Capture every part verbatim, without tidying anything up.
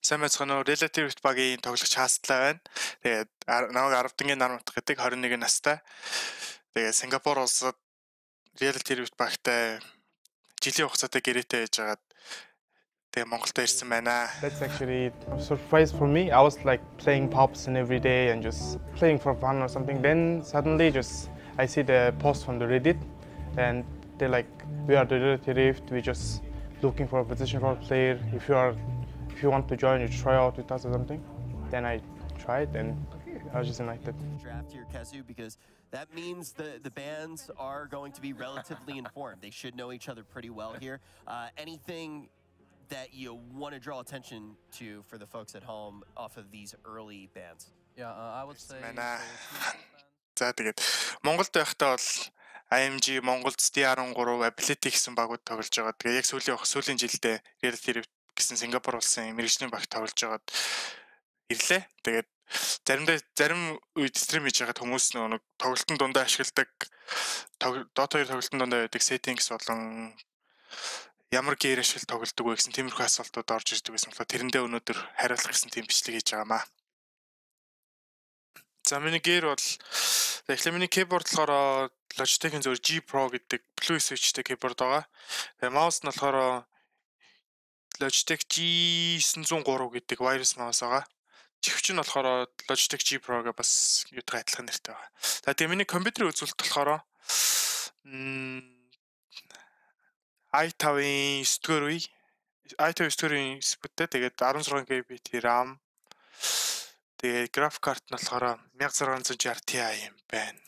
Сайн байцгаана уу? Relative багийн тоглогч хаастлаа байна. Тэгээд намайг арав дангийн нар утга гэдэг twenty one настай. Тэгээд Сингапур улсад Relative багтай жилийн хугацаатай гэрээтэй байж байгаад тэгээд Монголд ирсэн байна. That's actually a surprise for me. I was like playing Pops and every day and just playing for fun or something. Then suddenly just I see the post from the Reddit and they're like, we are the Relative, we just looking for a position for a player. If you are if you want to join, you try out with us or something. Then I tried and I was just invited. Draft here, Kezu, because that means the, the bands are going to be relatively informed. They should know each other pretty well here. Uh, anything that you want to draw attention to for the folks at home off of these early bands? Yeah, uh, I would say. За тэгээд Монголд байхдаа бол I M G Монголд D R thirteen Ability гэсэн багууд тоглож байгаа. Тэгээ яг сүүлийн сүүлийн жилдээ Relative гэсэн Сингапур улсын мэргэжлийн багт тоглож байгаад ирлээ. Тэгээд заримдаа зарим үед стрим хийж байгаад хүмүүс нэг тоглолтын дундаа ашигладаг Dota two тоглолтын дундаа байдаг settings болон ямар gear ашигла тоглодог вэ гэсэн тиймэрхүү асуултууд орж ирдэг байсан болохоор тэрэндээ өнөөдөр хариулах гэсэн тийм бичлэг хийж байгаамаа. За миний gear бол тэгэхээр миний keyboard болохоор Logitech-ийн зөв G Pro гэдэг Blue Switch-тэй keyboard байгаа. Тэгээ mouse нь болохоор Logitech G nine oh three гэдэг wireless mouse байгаа. Чихвч нь болохоор Logitech G Pro-г бас юутай адилхан нэртэй байгаа. За тэгээ миний компьютерийн үзүүлэлт болохоор i five-ийн nine дугаар үе i five nine дугаар үеийн спуттэй тэгээд sixteen gigabyte RAM тэгээд graphic card нь болохоор sixteen sixty Ti юм байна.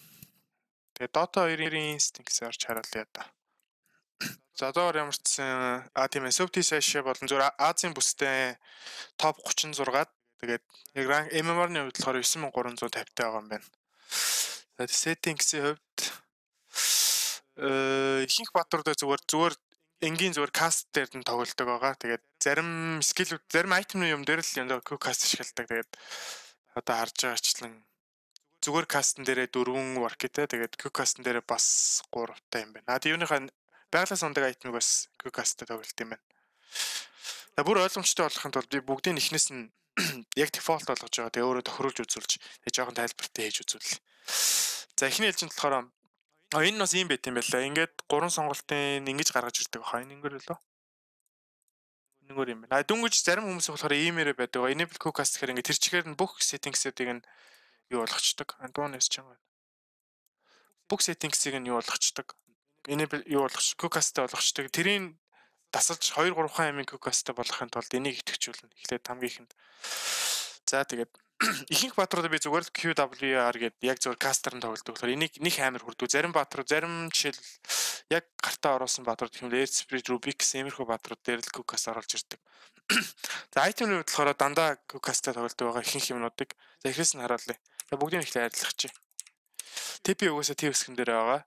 Тэгээд Dota two-ийн Instinct-ээр орж харуулъя да. За доор ямар ч гэсэн а тийм ээ Softy Sasha болон зүгээр Азийн бүстэй топ thirty-six-ад тэгээд яг rank M M R-ны хувьд болохоор nine thousand three hundred fifty байгаа юм байна. За settings-ийн хувьд э ихэнх баатруудаа зүгээр зүгээр энгийн зүгээр cast дээр нь тоглодог байгаа. Тэгээд зарим skill зарим item-ны юм дээр л яг quick cast ашигладаг. Тэгээд одоо харж байгаачлан зүгээр cast-н дээрээ four work-тэй тэгээд quick cast-н дээрээ бас three та юм байна. А юуныхаа байгалаас ундаг item-ыг бас quick cast-тэй тоглолт юм байна. За бүр ойлгомжтой болохын тулд би бүгдийн ихнээс нь яг default болгож байгаа. Тэгээ өөрөө тохируулж үзүүлж тэгээ жоохон тайлбартай хийж үзүүл. За эхний ээлжинд болохоор а энэ бас юм байт юм байлаа. Ингээд гурван сонголтын ингэж гаргаж ирдэг баха. Энэ ингэр лөө. Энэгээр юм байна. А дүнгэж зарим хүмүүс болохоор иймэрэ байдаг. Enable quick cast гэхээр ингээд тэр чигээр нь бүх settings-уудыг нь юу болгочдөг. Андуунаас ч юм байна. Бүх settings-ыг нь юу болгочдөг. Enable юу болгоч quick cast-тэй болгочдөг. Тэрийн дасалж two three амын quick cast-тэй болгохын тулд энийг идэвхжүүлнэ. Эхлээд хамгийн ихэнд. За тэгээд ихэнх баатруудаа би зүгээр л Q W R гэдэг яг зүгээр кастер нь тоглодог. Тэгэхээр энийг нэг амар хүрдэг. Зарим баатрууд зарим жишээл яг гартаа оруулсан баатрууд гэх юм Air Spirit Rubix иймэрхүү баатрууд дээр л quick cast оруулж ирдэг. За item-ийн хувьд болохоор дандаа quick cast-тэй тоглодог байгаа ихэнх юмнуудыг. За эхлээс нь харуулъя. За бүгдийг ихлэ арилгачих. T P угаасаа T үсгэн дээр байгаа.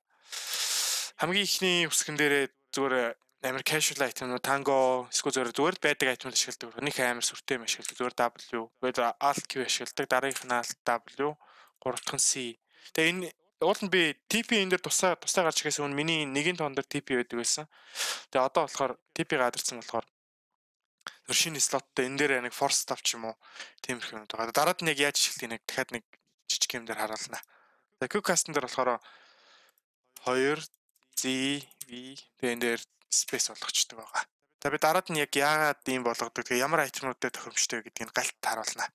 Хамгийн ихний үсгэн дээрээ зүгээр амар casual item-нууд tango эсвэл зүгээр байдаг item-ууд ашигладаг. Нэг амар сүртэй юм ашигладаг. Зүгээр W, зүгээр Alt Q ашигладаг. Дараагийнх нь Alt W, гурав дахь нь C. Тэгээ энэ уул нь би T P энэ дээр тусаа тусаа гарч ирэхээс өмнө миний нэгэн тоон дээр T P байдаг байсан. Тэгээ одоо болохоор T P гадарсан болохоор тэр шинэ слоттой энэ дээр нэг force stop ч юм уу тиймэрхүү юм байгаа. Дараад нь яг яаж ашигладаг нэг дахиад нэг жижиг юм дээр харуулна. За quick cast-н дээр болохоор two Z V тэгээ энэ дээр space болгочдөг байгаа. За би дараад нь яг яагаад ийм болгодог, тэгээ ямар айтемнуудтай тохиромжтой гэдгийг галт харуулна.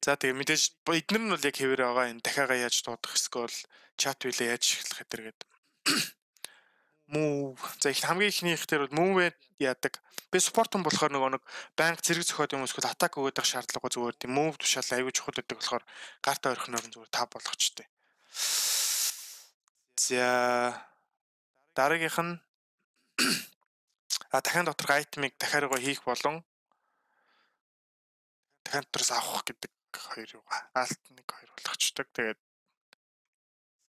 За тэгээ мэдээж эднэр нь бол яг хэвээр байгаа. Энэ дахиагаа яаж дуудах эсвэл chat wheel-ээ яаж ашиглах гэдэг гээд. Move. За их хамгийн ихнийх дээр бол move яадаг. Би support-он болохоор нөгөө нэг банк зэрэг зөхиод юм эсвэл attack өгödөх шаардлагагүй зүгээр тийм move тушаал аягүй чухал гэдэг болохоор карта орхиноор нь зүгээр tab болгочтой. За дараагийнх нь а дахин доторх айтмыг дахиараа хийх болон дахин дотроос авах гэдэг хоёр юугаа алт нэг хоёр болгочдөг. Тэгээд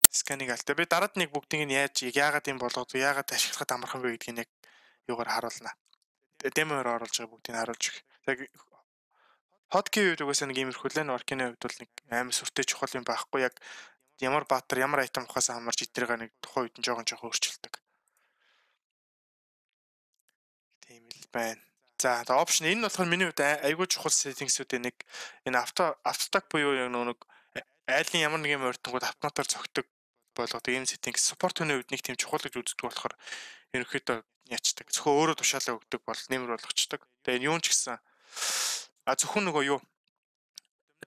сканыг алт. Би дараад нэг бүгдийг нь яаж яагаад юм болгоод яагаад ашиглахад амархан бэ гэдгийг яг юугаар харуулна. Демоор оруулж байгаа бүгдийг нь харуулж өгье. Яг hotkey үед угаасаа нэг иймэрхүү лэн work-ийн хувьд бол нэг амар сүртэй чухал юм байхгүй. Яг ямар баатар ямар айтем ухаасаа хамарч идрээга нэг тухайн үед нь жоохон жоохон өөрчилдөг. Тийм л байна. За одоо option энэ болохоор миний хувьд айгүй чухал settings-үүдийн нэг энэ авто автотак буюу яг нэг айлын ямар нэг юм ойртонгууд автоматар зөгтөг болгоод ийм settings support хүний хувьд нэг тийм чухал гэж үздэг болохоор ерөнхийдөө яачдаг. Зөвхөн өөрөө тушаалаа өгдөг бол нэмэр болгочдөг. Тэгээ энэ юун ч гэсэн а зөвхөн нөгөө юу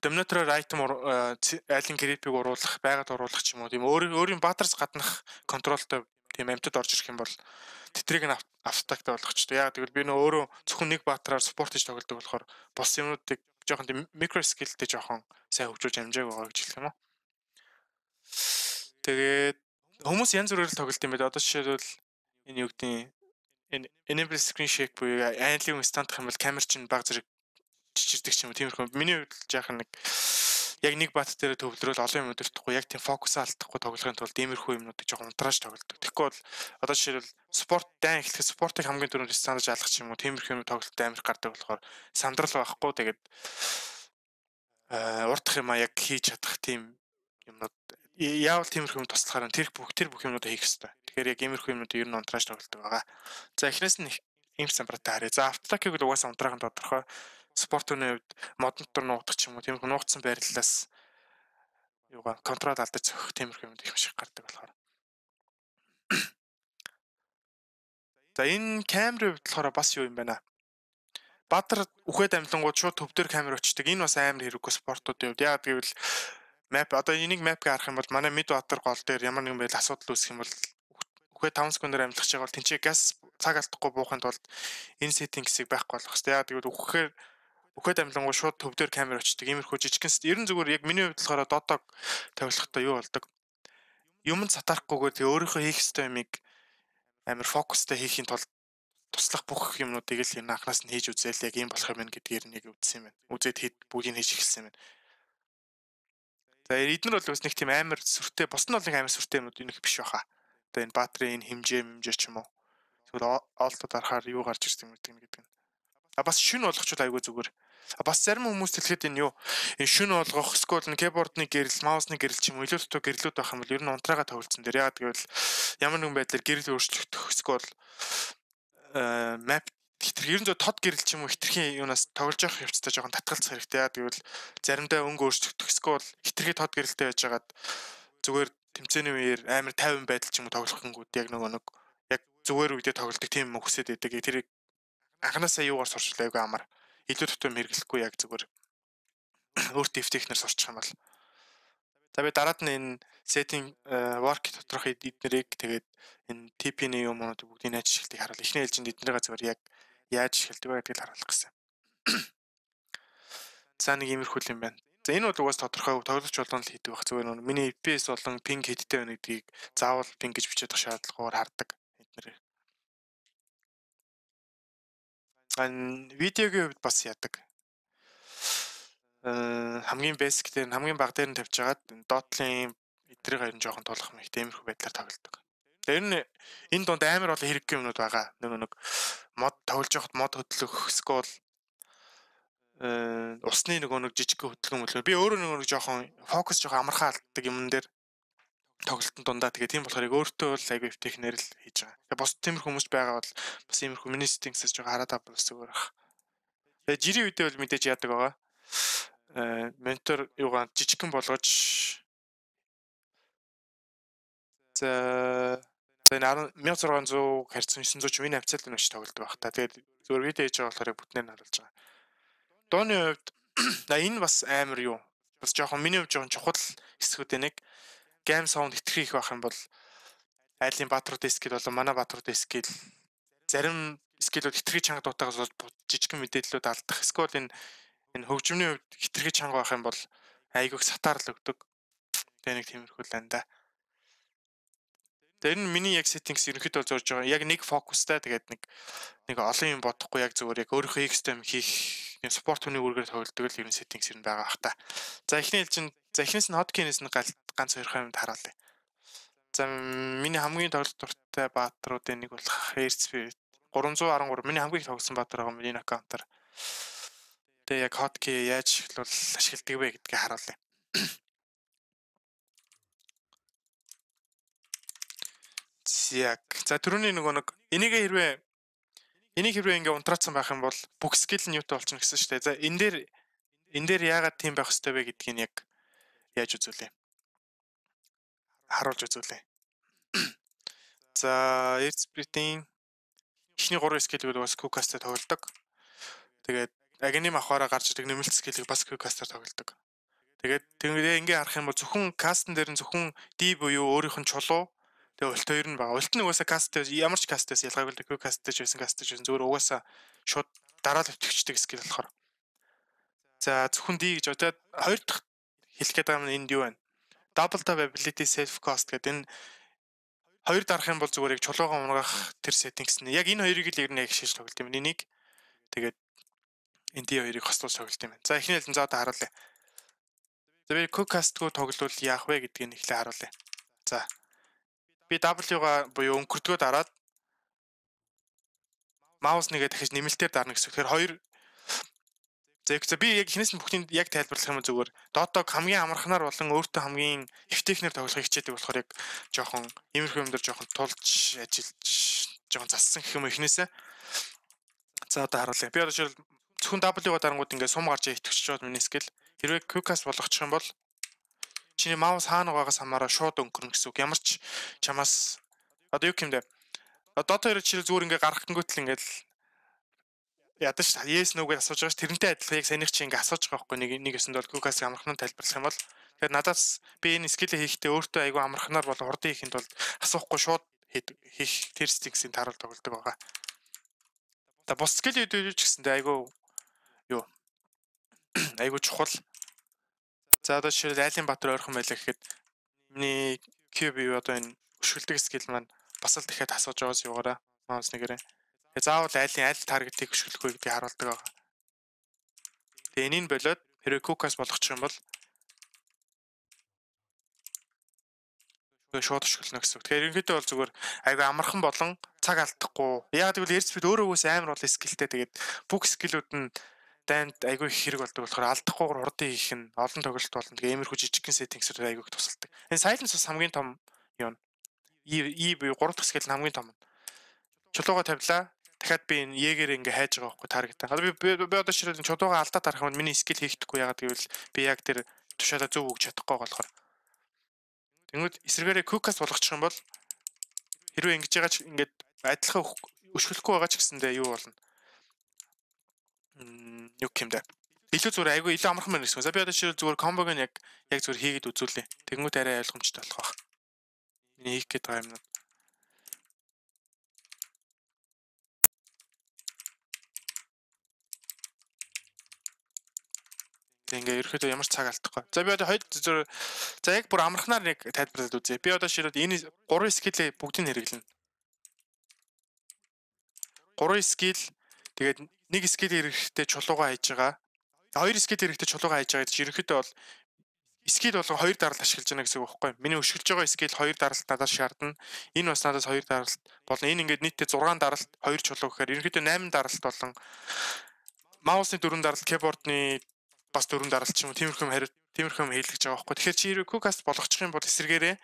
Dominator item айлын creep-ийг уруулах, байгаад уруулах ч юм уу тийм өөр өөрийн баатарс гаднах контролтой тийм амьтад орж ирэх юм бол тэтрийг нь автотактай болгочтой. Яг тэгвэл би нөө өөрөө зөвхөн нэг баатараар спорт хийж тоглодог болохоор бос юмнуудыг жоохон тийм микро скиллтэй жоохон сайн хөгжүүлж амжааг байгаа гэж хэлэх юм уу. Тэгээд хүмүүс янз бүрээр тоглолт юм байна. Одоо жишээлбэл энэ юу гэдэг энэ enable screen shake буюу айлын стандах юм бол камер чинь баг зэрэг чичирдэг ч юм уу тиймэрхүү. Миний хувьд жаахан нэг яг нэг бат дээр төвлөрөөл олон юм өдөртөхгүй яг тийм фокусаа алдахгүй тоглохын тулд иймэрхүү юмнуудыг жоохон унтрааж тоглодог. Тэгэхгүй бол одоо жишээлбэл спорт дан эхлэхэд спортыг хамгийн түрүүнд стандаж алгах ч юм уу тиймэрхүү юм тоглолтод амар гардаг болохоор сандрал байхгүй тэгээд аа урдах юм а яг хийж чадах тийм юмнууд яавал тиймэрхүү юм туслахаар тэр бүх тэр бүх юмнуудаа хийх хэрэгтэй. Тэгэхээр яг иймэрхүү юмнуудыг ер нь унтрааж тоглодог байгаа. За эхнээс нь ийм самбартаа харъя. За автотакийг л угаасаа унтраахын тодорхой спорт үний хувьд модон дотор нуугдах ч юм уу тиймэрхүү нуугдсан байрлалаас юугаа контрол алдаж зөхөх тиймэрхүү юмд их шиг гардаг болохоор. За энэ камерын хувьд болохоор бас юу юм байна. Баатар үхээд амлангууд шууд төв дээр камер очдог. Энэ бас амар хэрэггүй спортуудын хувьд. Яг гэвэл map одоо энийг map-ыг харах юм бол манай мид баатар гол дээр ямар нэгэн байл асуудал үүсэх юм бол үхээд таван секундээр амлах чагаа бол тэнцээ газ цаг алдахгүй буухын тулд энэ settings-ийг байхгүй болох хэрэгтэй. Яг гэвэл үхэхээр үхээд амлангууд шууд төв дээр камер очдог. Иймэрхүү жижигхэн ерэн зүгээр яг миний хувьд болохоор додог тавилахтаа юу болдог. Юмд сатарахгүйгээр тэг өөрийнхөө хийх ёстой юмыг амар фокустай хийхийн тулд туслах бүх юмнуудыг л энэ анханаас нь хийж үзээл яг юм болох юм байна гэдгээр нэг үзсэн юм байна. Үзээд хэд бүгийг хийж эхэлсэн юм байна. За эднэр бол бас нэг тийм амар сүртэй, бос нь бол нэг амар сүртэй юмуд энэ биш баха. Одоо энэ баатрийн энэ хэмжээ хэмжээ ч юм уу. Тэгвэл олдод арахаар юу гарч ирсэн юм гэдэг нь. А бас шүн болгочвол айгүй зүгээр. А бас зарим хүмүүс хэлэхэд энэ юу энэ шүн болгох, скол нь keyboard-ны гэрэл, маусны гэрэл ч юм уу илүү дутуу гэрлүүд байх юм бол ер нь унтраага тоглолцсон дээр яагаад гэвэл ямар нэгэн байдлаар гэрэл өөрчлөгдөх, скол map хитрхи ерэн зөө тод гэрэл ч юм уу хитрхийн юунаас тоглож явах явцтай жоохон татгалцах хэрэгтэй. Яагаад гэвэл заримдаа өнгө өөрчлөгдөх, скол хитрхи тод гэрэлтэй байжгаад зүгээр тэмцээний үеэр амар тайван байдал ч юм уу тоглох гингүүд яг нөгөө нэг яг зүгээр үедээ тоглолдог тийм юм хүсээд байдаг. Тэр анханасаа юугаар сурчлаа айгүй амар. Илүү тутам хэрэглэхгүй яг зүгээр өөрт дэвтэхнэр сурчих юм бол. За би дараад нь энэ setting work доторх эднэрийг тэгээд энэ ти пи-ний юмнуудыг бүгдийг яаж ашигладаг харуул. Эхний ээлжинд эднэрийг зүгээр яг яаж ашигладаг вэ гэдгийг харуулах гэсэн. За нэг иймэрхүү юм байна. За энэ бол угаас тодорхой тоглож болгоно л хийдэг байх. Зүгээр нэг миний эф пи эс болон ping хэдтэй байна гэдгийг заавал ping гэж бичээд байх шаардлагагаар хардаг эднэрийг. Ан видеогийн хувьд бас яадаг. Э хамгийн basic дээр хамгийн бага дээр нь тавьж хагаад Dotl-ын эдрийг харин жоохон тулах юм их тиймэрхүү байдлаар тоглодог. Тэр нь энэ донд амар олон хэрэггүй юмнууд байгаа. Нэг нэг мод тоглож явахад мод хөдлөх, скол э усны нөгөө нэг жижиг хөдөлгөөн мөлөө. Би өөрөө нөгөө нэг жоохон фокус жоохон амархан алддаг юмн дээр тоглолтын дундаа тэгээ тийм болохоор яг өөртөө бол айгүй технэр л хийж байгаа. Тэгээ бос тиймэрхүү хүмүүс байгаа бол бас иймэрхүү миний settings-ээс жоохон хараад авах зүгээр байх. Тэгээ жирийн үедээ бол мэдээж яадаг байгаа. Э монитор юугаа жижигхэн болгож за за энэ мянга зургаан зуун харьцан ниссэн зуун ч миний хавцал нь өч тоглодог байх та. Тэгээд зүгээр видео хийж байгаа болохоор бүтнээр нь харуулж байгаа. Дооны хувьд энэ бас амар юу. Бас жоохон миний хувьд жоохон чухал хэсгүүд нэг game sound хитрхи их байх юм бол айлын баатруудын скил болон манай баатруудын скил зарим скилүүд хитрхи чанга дуутаагаас бол жижигхэн мэдээллүүд алдах. Эсвэл энэ энэ хөгжмөний хувьд хитрхи чанга байх юм бол айгүйх сатаарл өгдөг. Тэгээ нэг тиймэрхүү л анда. Тэр нь миний яг settings ерөнхийдөө зорж байгаа. Яг нэг фокустай тэгээд нэг нэг олон юм бодохгүй яг зүгээр яг өөрийнхөө хийх юм хийх спорт хүний үргээр тоглодог л юм settings юм байгаа бах та. За эхний ээлжинд за эхнээс нь hotkey-нээс нь ганц хоёр юмд хараалаа. За миний хамгийн тоглолт дуртай баатруудын нэг бол Airspeed гурван зуун арван гурав миний хамгийн их тоглосон баатар байгаа миний аккаунтаар. Тэгээ яг hotkey яаж ашиглавал ашигладаг вэ гэдгийг харуулъя. Яг за түрүүний нөгөө нэг энийг хэрвээ Энийг хэрвээ ингээ унтраацсан байх юм бол бүх скил нь юутай болчихно гэсэн шүү дээ. За энэ дээр энэ дээр яагаад тийм байх ёстой вэ гэдгийг яг яаж үзүүлээ? Харуулж үзүүлээ. За Airspeed-ийн эхний гурван скиллүүд бас Q-cast-аар тоглодог. Тэгээд агним авахаараа гарч ирдэг нэмэлт скиллийг бас Q-cast-аар тоглодог. Тэгээд тэгээд ингээ харах юм бол зөвхөн кастн дээр нь зөвхөн D буюу өөрийнх нь чулуу тэгээд ульт хоёр нь байгаа. Ульт нь угаасаа каст ямар ч кастээс ялгаагүй л Q-cast гэж байсан каст гэж байсан зүгээр угаасаа шууд дараа л өтгчдэг скил болохоор. За зөвхөн D гэж одоо хоёр дахь хэлэх гээд байгаа юм энд юу вэ? Double tap ability self cost гэдэг энэ хоёр дарах юм бол зүгээр яг чулуугаа унгах тэр settings нь яг энэ хоёрыг л ер нь яг шийдэж тоглолт юм. Энийг тэгээд энэ D хоёрыг хослуулж тоглолт юм. За эхний хэлэн за одоо харуулъя. За би Q-cast-гүй тоглолт яах вэ гэдгийг нь эхлээ харуулъя. За би W-га буюу өнгөрдгөө дараад маус нэгээ дахиж нэмэлтээр дарна гэсэн. Тэгэхээр хоёр за би яг хинээс нь бүхнийг яг тайлбарлах юм зүгээр. Dota-г хамгийн амархнаар болон өөртөө хамгийн эффективнээр тоглохыг хичээдэг болохоор яг жоохон иймэрхүү юм дээр жоохон тулж ажиллаж жоохон зассан гэх юм эхнээсээ. За одоо харуулъя. Би одоо жишээл зөвхөн W-га дарангууд ингээд сум гарч итгэж чад миний скил. Хэрвээ Q-cast болгочих юм бол чиний маус хаана байгаагаас хамаараа шууд өнгөрнө гэсэн үг. Ямар ч чамаас одоо юу юм бэ? Dota хоёр жишээл зүгээр ингээд гарахтангуут л ингээд ядаж yes no гэж асууж байгаа ш тэрнтэй адилхан яг санийх чи ингээ асууж байгаа байхгүй нэг нэг өсөнд бол Q-cast амархнаар тайлбарлах юм бол тэгэхээр надаас би энэ скиллээ хийхдээ өөртөө айгүй амархнаар бол урдын хийхэд бол асуухгүй шууд хийх тэр стиксийн таруул тоглодог байгаа. За бус скиллүүд юу ч гэсэндээ айгүй юу айгүй чухал. За одоо жишээл айлын Баатар ойрхон байлаа гэхэд миний Q B одоо энэ өшгөлдөг скилл маань бас л дахиад асууж байгаас юугаараа маус нэгээрээ заавал айлын айл таргетыг хөшгөлөхгүй гэдгийг харуулдаг байгаа. Тэгээ энийг болоод хэрвээ Q-cast болгочих юм бол шууд хөшгөлнө гэсэн үг. Тэгэхээр ерөнхийдөө бол зүгээр айгүй амархан болон цаг алдахгүй. Яг тэгвэл Airspeed өөрөө үгүйс амар бол скиллтэй. Тэгээд бүх скиллүүд нь дайнд айгүй их хэрэг болдог болохоор алдахгүйгээр урдын хийх нь олон тоглолт болно. Тэгээ иймэрхүү жижигхэн settings-үүд айгүй их тусалдаг. Энэ silence бас хамгийн том юм. E буюу гурав дахь скилл нь хамгийн том. Чулууга тавилаа. Дахиад би энэ Jäger ингээ хайж байгаа байхгүй таргетаа. Одоо би би одоо ширэл чулууга алдаад тарах юм миний скил хийхдэггүй ягаад гэвэл би яг тэр тушаалаа зөв өгч чадахгүй болохоор. Тэнгүүд эсрэгээрээ Q-cast болгочих юм бол хэрвээ ингэж байгаа ч ингээд адилхан өшгөлөхгүй байгаа ч гэсэндээ юу болно? Мм юу юм бэ? Илүү зүгээр айгүй илүү амархан байна гэсэн. За би одоо ширэл зүгээр комбог нь яг яг зүгээр хийгээд үзүүлээ. Тэнгүүд арай ойлгомжтой болох байх. Миний хийх гээд байгаа юм. Ингээ ерөөхдөө ямар ч цаг алдахгүй. За би одоо хоёр зөв за яг бүр амархнаар нэг тайлбарлаад үзье. Би одоо ширээд энэ гурван скиллээ бүгдийг хэрэглэнэ. Гурван скилл тэгээд нэг скилл хэрэгтэй чулуугаа хайж байгаа. Хоёр скилл хэрэгтэй чулуугаа хайж байгаа гэж ерөөхдөө бол скилл болгон хоёр даралт ашиглаж байна гэсэн үг байхгүй юу? Миний өшгөлж байгаа скилл хоёр даралт надаас шаардна. Энэ бас надаас хоёр даралт болно. Энэ ингээд нийтдээ зургаан даралт хоёр чулуу гэхээр ерөөхдөө найман даралт болон маусны дөрвөн даралт, keyboard-ны бас дөрвөн даралт ч юм уу тиймэрхүү хариу тиймэрхүү хийлгэж байгаа байхгүй. Тэгэхээр чи хэрэг Q-cast болгочих юм бол эсрэгээрээ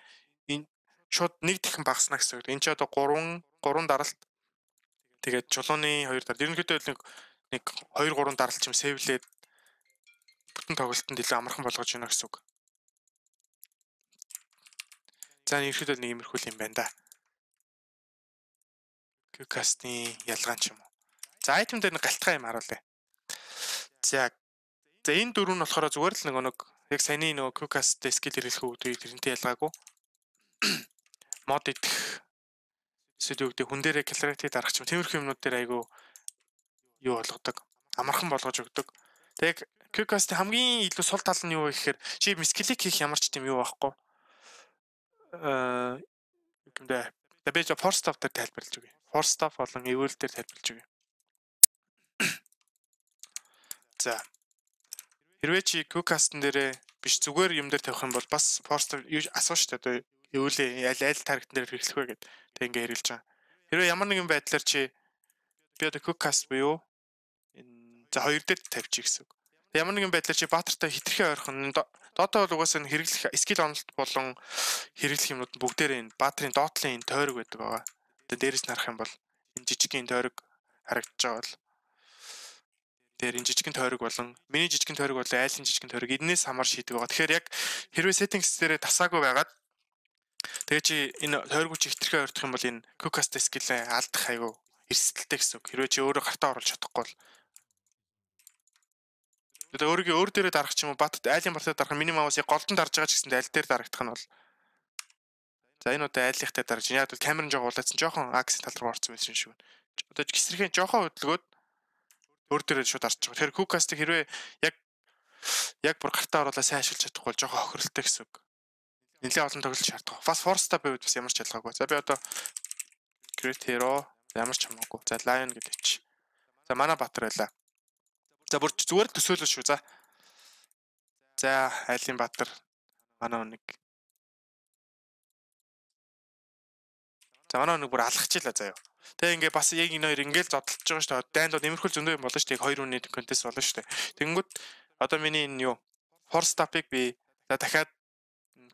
энэ шууд нэг дахин багасна гэсэн үг. Энд чи одоо гурван гурван даралт тэгээд чулууны хоёр даралт. Ерөнхийдөө нэг нэг хоёр гурван даралт ч юм сэвлээд бүтэн тоглолтод илүү амархан болгож байна гэсэн үг. За ерөнхийдөө нэг иймэрхүү юм байна да. Q-cast-ийн ялгаа ч юм уу. За item дээр нэг галтгай юм харуулъя. За За энэ дөрөв нь болохоор зүгээр л нөгөө нэг яг саяны нөгөө Q-cast skill хэрэглэх үүдийг тэрнтэй ялгаагүй. Мод идэх эсвэл юу гэдэг хүн дээрээ calculated дарах ч юм тиймэрхүү юмнууд дээр айгүй юу болгодог. Амархан болгож өгдөг. Тэг Q-cast хамгийн илүү сул тал нь юу вэ гэхээр чи skill-ийг хийх ямар ч тийм юу байхгүй. Аа юундэ би ч force stop дээр тайлбарлаж өгье. Force stop болон evil дээр тайлбарлаж өгье. За хэрвээ чи Q-cast-н дээрээ биш зүгээр юм дээр тавих юм бол бас force юу асуу штэ одоо евлээ аль аль таргетн дээр хэрэглэх вэ гэд тэг ингээ хэрэглэж байгаа. Хэрвээ ямар нэгэн байдлаар чи би одоо Q-cast буюу энэ за хоёр дээр тавьчих гэсэн үг. Ямар нэгэн байдлаар чи баатартай хитрхээ ойрхон Dota бол угаасаа хэрэглэх skill онолт болон хэрэглэх юмнууд бүгдээрээ энэ баатарын доотлын энэ тойрог байдаг байгаа. Тэгээ дээрээс нь харах юм бол энэ жижигхэн тойрог харагдаж байгаа бол тэр энэ жижигхэн тойрог болон миний жижигхэн тойрог болон айлын жижигхэн тойрог энэс хамаар шийдэг байгаа. Тэгэхээр яг хэрвээ settings дээрээ тасаагүй байгаад тэгээ чи энэ тойрог чи хитрхээ ойрдох юм бол энэ quick cast skill-ээ алдах айгүй эрсдэлтэй гэсэн үг. Хэрвээ чи өөрөө гартаа оруулж чадахгүй бол тэгээ өөрийгөө өөр дээрээ дарах ч юм уу бат айлын бартаа дарах миний маус яг голдон дарж байгаа ч гэсэн аль дээр дарагдах нь бол за энэ удаа айлынхтай дарж яг бол камерын жоо улаацсан жоохон акс тал руу орсон байсан шүү. Одоо ч гисэрхэн жоохон хөдөлгөөд өөр дээрээ шууд дарж байгаа. Тэгэхээр quick cast-ыг хэрвээ яг яг бүр гартаа оруулаад сайн ашиглаж чадахгүй бол жоохон хохиролтой гэсэн үг. Нэлээд олон тоглолт шаарддаг. Бас force-та байвал бас ямар ч ялгаагүй. За би одоо Great Hero ямар ч хамаагүй. За Lion гэдэг чи. За манай Баатар байлаа. За бүр зүгээр л төсөөлөл шүү. За. За айлын Баатар манай нэг. За манай нэг бүр алхачихлаа заяа. Тэгээ ингээ бас яг энэ хоёр ингээл зодтолж байгаа шүү дээ. Дайнд нэмэрхүүл зөндөө юм болно шүү дээ. Хоёр үний контест болно шүү дээ. Тэнгүүд одоо миний энэ юу force stop-ыг би за дахиад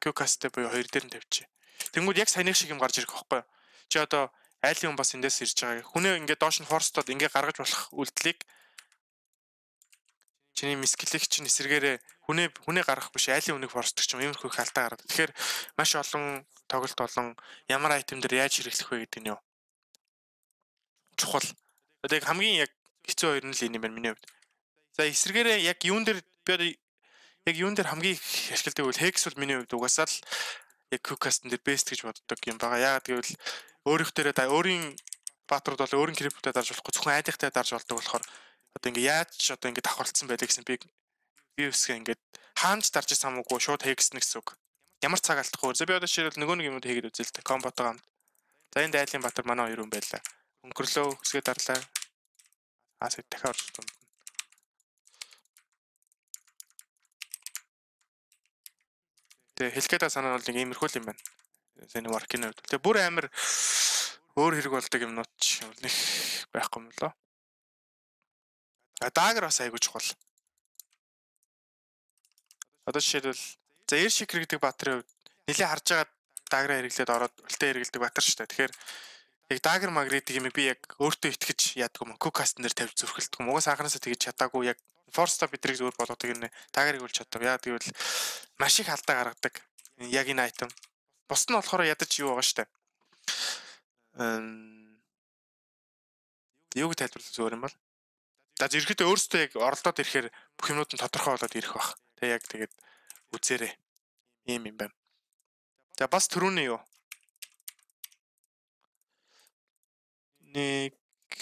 quick cast-тэй буюу хоёр дээр нь тавьчих. Тэнгүүд яг саяны шиг юм гарч ирэх байхгүй юу? Чи одоо айлын хүн бас эндээс ирж байгаа. Хүнээ ингээ доош нь force-тод ингээ гаргаж болох үйлдэлийг чиний мискилийг чинь эсэргээрээ хүнээ хүнээ гаргах биш айлын хүнийг force-дог ч юм иймэрхүү их алдаа гараад. Тэгэхээр маш олон тоглолт болон ямар айтем дээр яаж хэрэглэх вэ гэдэг нь юу? Чухал. Одоо яг хамгийн яг хэцүү хоёр нь л энэ юм байна миний хувьд. За эсэргээрээ яг юун дээр би яг юун дээр хамгийн их ашигладаг бол hex бол миний хувьд угаасаа л яг quick cast дээр best гэж боддог юм байгаа. Яагаад гэвэл өөрийнх дээрээ да өөрийн баатрууд бол өөрийн крипtoтой дарж болохгүй зөвхөн айлынхтай дарж болдог болохоор одоо ингээ яаж ч одоо ингээ давхарлцсан байдаг гэсэн би би үсгээ ингээ хаанч дарж исэн хамаагүй шууд hex нэг гэсэн үг. Ямар цаг алдахгүй. За би одоо жишээлбэл нөгөө нэг юмуд хийгээд үзэл тэ комботоо хамт. За энэ айлын Баатар манай хоёр хүн байлаа. Өнгөрлөө үсгээ дарлаа. Аа сэт дахиад орж дунд. Тэгээ хэлгээд санаа бол нэг иймэрхүү юм байна. Сэний work-ийн хувьд. Тэгээ бүр амар өөр хэрэг болдог юмнууд ч нэг байхгүй юм лөө. А даагер бас айгуу чухал. Одоо жишээлбэл за Air Shaker гэдэг Баатарын хувьд нэлээ харж байгаа дааграа хэрэглээд ороод үлтээ хэрэглэдэг Баатар шүү дээ. Тэгэхээр яг даагер магритик юм би яг өөртөө итгэж яадаг юм. Quick cast нэр тавьж зүрхэлдэг юм. Угаас анханасаа тэгж чадаагүй яг force stop бидрийг зөвөр болгодог юм. Даагерыг үл чаддаг. Яа гэвэл маш их алдаа гаргадаг. Яг энэ айтем. Бус нь болохоор ядаж юу байгаа шүү дээ. Эм юуг тайлбарлах зөвөр юм бол. За зэрэгтэй өөртөө яг оролдоод ирэхээр бүх юмнууд нь тодорхой болоод ирэх бах. Тэг яг тэгээд үзээрэй. Ийм юм байна. За бас түрүүний юу? Нэг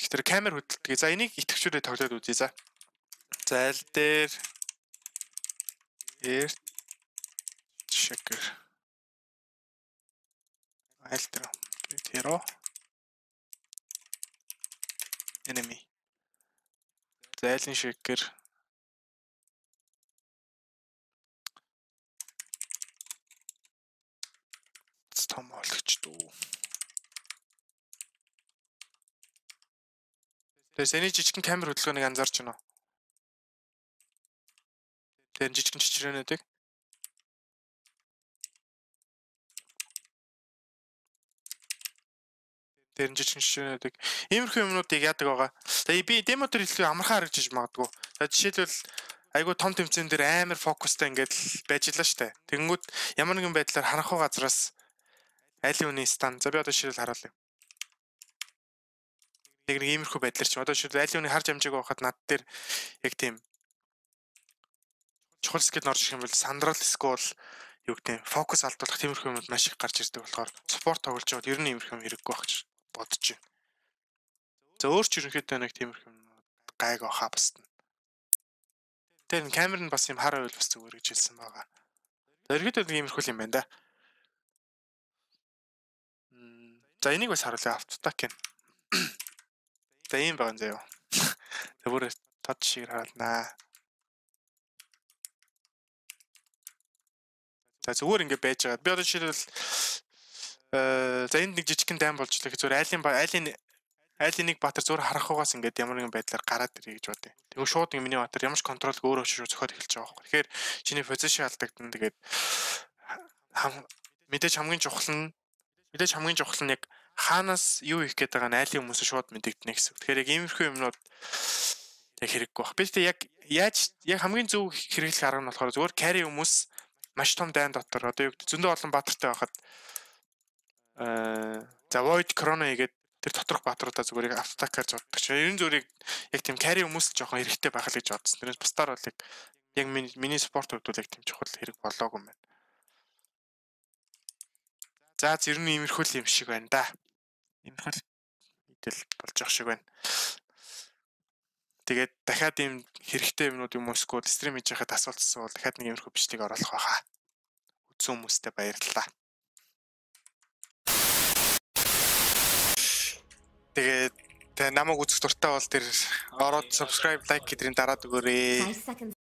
тэр камер хөдөлтгий. За энийг итгэвчүүрээ тоглоод үзье за. За аль дээр Air Shaker. Аль дээр Hero enemy. За айлын Shaker. Том болгоч дүү. Тэгээ сэний жижигхэн камер хөдөлгөөнийг анзаарч байна уу? Тэр жижигхэн чичрээнүүдийг. Тэр жижигхэн чичрээнүүдийг. Иймэрхүү юмнуудыг яадаг байгаа. Тэгээ би демо дээр илүү амархан харагдаж магадгүй. За жишээлбэл айгуу том тэмцээн дээр амар фокустай ингээд байж лаа штэ. Тэгэнгүүт ямар нэгэн байдлаар харанхуй газраас айлын үний стан. За би одоо жишээл харуулъя. Яг нэг иймэрхүү байдлаар ч одоо жишээл айлын үний харж амжаагүй байхад над дээр яг тийм чухал скил орж ирэх юм бол сандрал скол юу гэдэг фокус алдуулах тиймэрхүү юмуд маш их гарч ирдэг болохоор спорт тоглож байгаад ер нь иймэрхүү юм хэрэггүй байх гэж бодож байна. За өөр ч ерөнхийдөө нэг тиймэрхүү юм гайг авахаа басна. Тэр камер нь бас юм хар байвал бас зүгээр гэж хэлсэн байгаа. За ерөнхийдөө нэг иймэрхүү юм байна да. За энийг бас харуулъя автотак юм. За ийм байгаа юм заяа. За бүр тод шиг харуулнаа. За зүгээр ингэ байж байгаа. Би одоо жишээлбэл э за энд нэг жижигхэн дайм болж л зүгээр айлын айлын айлын нэг Баатар зүгээр харахугаас ингээд ямар нэгэн байдлаар гараад ирээ гэж бодъё. Тэгвэл шууд ингэ миний Баатар ямар ч контролгүй өөрөө шууд зөхиод эхэлж байгаа байхгүй. Тэгэхээр чиний позишн алдагдана. Тэгээд мэдээж хамгийн чухал нь мэдээж хамгийн чухал нь яг хаанаас юу их гээд байгаа нь айлын хүмүүс шууд мэдэгдэнэ гэсэн. Тэгэхээр яг иймэрхүү юмнууд яг хэрэггүй баг. Би тэгтээ яг яаж яг хамгийн зөв хэрэглэх арга нь болохоор зүгээр carry хүмүүс маш том дайн дотор одоо юу гэдэг зөндөө олон баатартай байхад аа за void chrono хийгээд тэр доторх баатруудаа зүгээр яг автотакаар зоддог. Ерөн зүрийг яг тийм carry хүмүүс л жоохон хэрэгтэй байх л гэж бодсон. Тэрнээс бусдаар бол яг миний спорт хувьд бол яг тийм чухал хэрэг болоогүй юм байна. За ер нь иймэрхүү юм шиг байна да. Иймэрхүү мэдэл болж явах шиг байна. Тэгээд дахиад ийм хэрэгтэй юмнууд юм уусгүй стрим хийж байхад асуулт асуувал дахиад нэг иймэрхүү бичлэг оруулах байхаа. Үзсэн хүмүүстээ баярлалаа. Тэгээд намайг үзэх дуртай бол тэр ороод subscribe like гэдрийн дараад өгөөрэй.